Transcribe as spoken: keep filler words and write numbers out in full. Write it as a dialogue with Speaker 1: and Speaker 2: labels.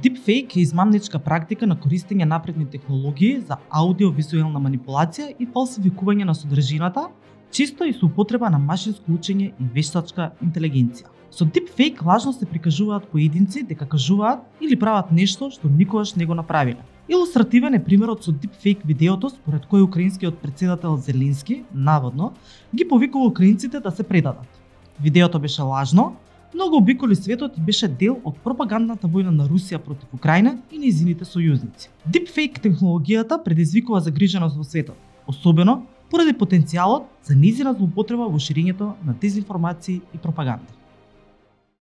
Speaker 1: Deepfake е измамничка практика на користење напредни технологии за аудиовизуелна манипулација и фалсификување на содржината, често и со употреба на машинско учење и вештачка интелигенција. Со Deepfake лажно се прикажуваат поединци дека кажуваат или прават нешто што никогаш не го направиле. Илустративен е примерот со Deepfake видеото според кој украинскиот претседател Зеленски, наводно, ги повикува украинците да се предадат. Видеото беше лажно, но го обиколи светот и беше дел од пропагандната војна на Русија против Украина и нејзините сојузници. Deepfake технологијата предизвикува загриженост во светот, особено поради потенцијалот за нејзина злоупотреба во ширењето на дезинформации и пропаганда.